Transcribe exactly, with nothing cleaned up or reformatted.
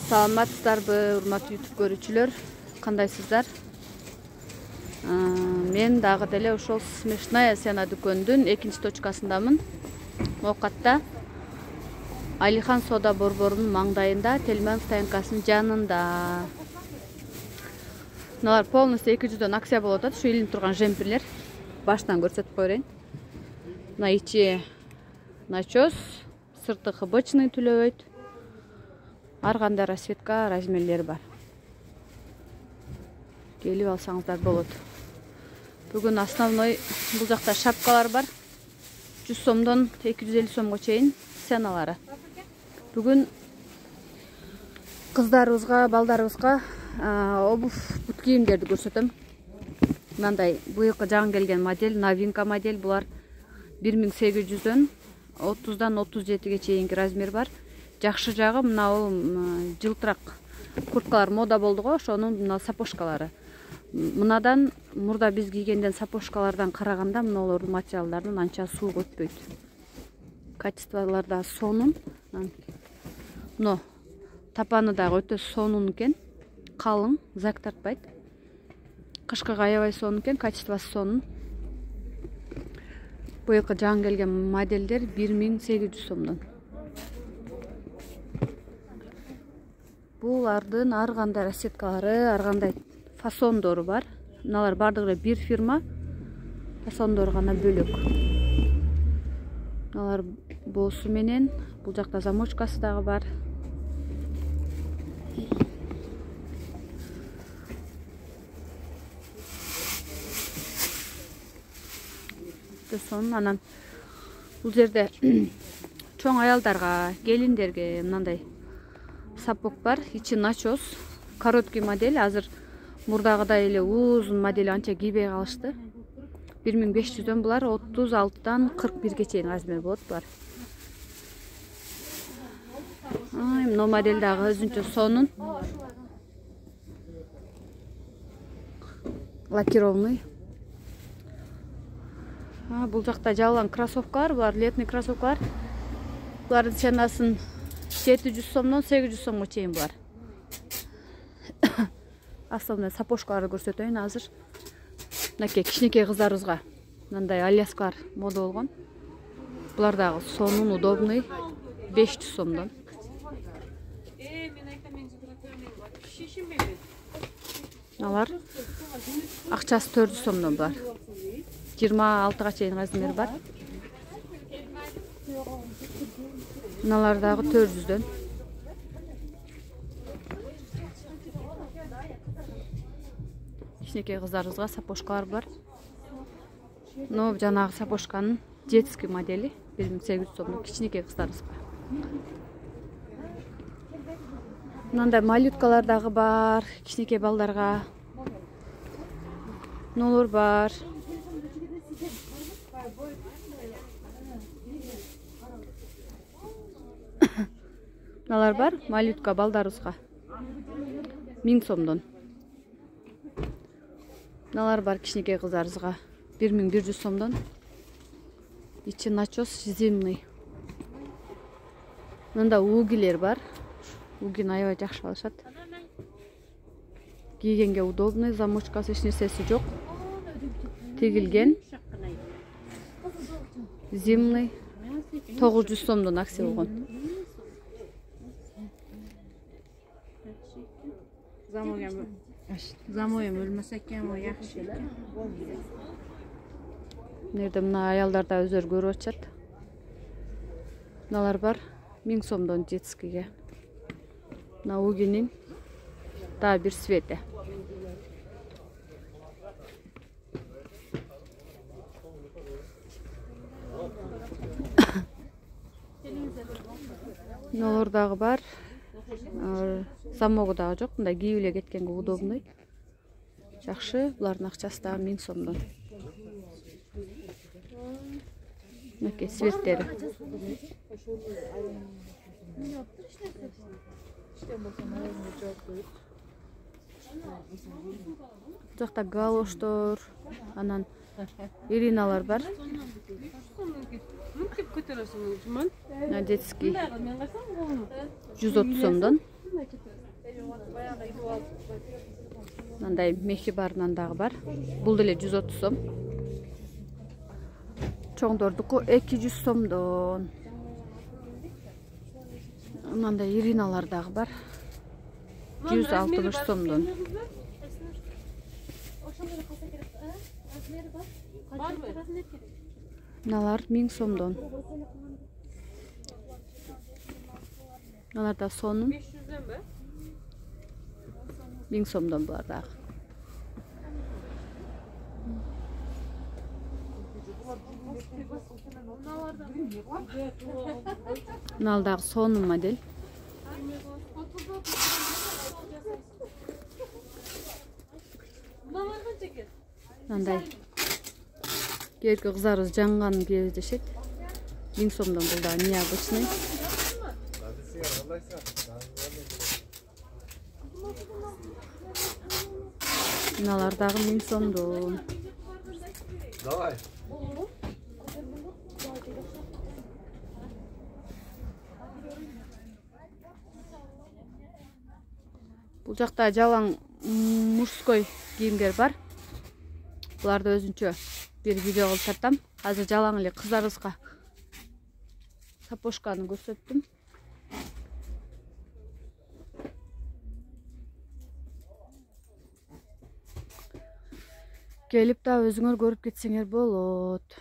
Саламатсыздарбы, урматтуу YouTube көрүүчүлөр? Кандайсыздар? Мен дагы деле ошол смешная сцена дүкөнүнүн экинчи точкасындамын. Моокатта Алихан соода борборунун маңдайында, Тельман стоянкасынын жанында. Мыналар полностью эки жүздөн акция болуп атат. Ушу илинип турган жемпирлер. Баштан көрсөтүп коерейин. Мына ичи начос, сырты хыбычный түлөбөйт. Ар кандай расцветка, размерлери бар. Келип алсаңыздар болот. Бүгүн основной бул жакта шапкалар бар. жүз сомдон эки жүз элүү сомго чейин сценалары. Бүгүн кыздарыбызга, балдарыбызга обувь, бут кийимдерди көрсөтөм. Мындай быйылкы жаңы келген модель, новинка модель. Булар бир миң сегиз жүздөн отуздан отуз жетиге чейинки размер бар. Жакшы жагы мына бул жылтырак курткалар мода болду го, ошонун мына сапожкалары. Мынадан мурда биз кийгенден сапожкалардан караганда мыналардын материалдардын анча суук өтпөйт. Качестволор да сонун. Но тапаны дагы өтө сонун экен. Калың, зак тартпайт. Кышкыга аябай сонун экен, качествосы сонун. Быйылкы жаңы келген модельдер бир миң сегиз жүз сомдон. Булардын ар кандай расцветкалары, ар кандай фасондору бар. Мыналар бардыгы бир фирма, фасондору гана бөлөк. Мыналар боосу менен, бул жакта замочкасы дагы бар. Сонун, анан бул жерде чоң аялдарга, келиндерге мындай сапог бар. Ичи начос, короткий модель. Азыр мурдагыдай эле узун модель анча кийбей калышты. бир миң беш жүздөн булар отуз алтыдан кырк бирге чейин размер болот булар. Мына модель дагы өзүнчө сонун. Лакированный. Бул жакта жалаң кроссовкалар, булар летный кроссовкалар. Булардын ценасын жети жүз сомдон сегиз жүз сомго чейин булар. Основной сапожкаларды көрсөтөйүн азыр. Мынакей кичинекей кыздарыбызга мындай альяскалар мода болгон. Булар дагы сонун, удобный, беш жүз сомдон. Алар акчасы төрт жүз сомдон булар. жыйырма алтыга чейин размер бар. Мыналар дагы төрт жүздөн. Кичинекей кыздарыбызга сапожкалар бар. Но жанагы сапожканын детский модели бир миң сегиз жүз сомдон кичинекей кыздарыбызга. Мындай малюткалар дагы бар, кичинекей балдарга. Нолор бар. Мыналар бар, малютка балдарыбызга миң сомдон. Мыналар бар кичинекей кыздарыбызга бир миң бир жүз сомдон. Ичи начос зимний. Мында угилер бар. Угин аябай жакшы алышат. Кийгенге удобный, замочкасы эч нерсеси жок. Тигилген. Зимний. тогуз жүз сомдон акция болгон. Замоем өлмөсө экен, о жакшы экен. Нерде мына аялдар да өздөрү көрүп атышат. Мыналар бар миң сомдон детскийге. Мына угинин да бир цвети. Мыналар дагы бар. Замогу дагы жок, мындай кийип эле кеткенге удобный. Жакшы, булардын акчасы дагы миң сомдон. Мынакей цветтери. Бул жакта галоштор, анан ириналар бар. Детский жүз отуз сомдон. Мындай мехи барынан дагы бар. Бул деле жүз отуз сом. Чоңдордуку эки жүз сомдон. Мындай ириналар дагы бар. жүз алтымыш сомдон. Мыналар миң сомдон. Мыналар да сонун. миң сомдон булар дагы. Мынал дагы сонун модель. Мындай кээки кыздарыбыз жаңганын кездешет. миң сомдон бул дагы необычный. Мыналар дагы миң сомдон. Давай. Бул жакта жалаң мужской кийимдер бар. Буларды өзүнчө бир видео кылып тартам. Азыр жалаң эле кыздарыбызга сапожканы көрсөттүм. Келип да өзүңөр көрүп кетсеңер болот.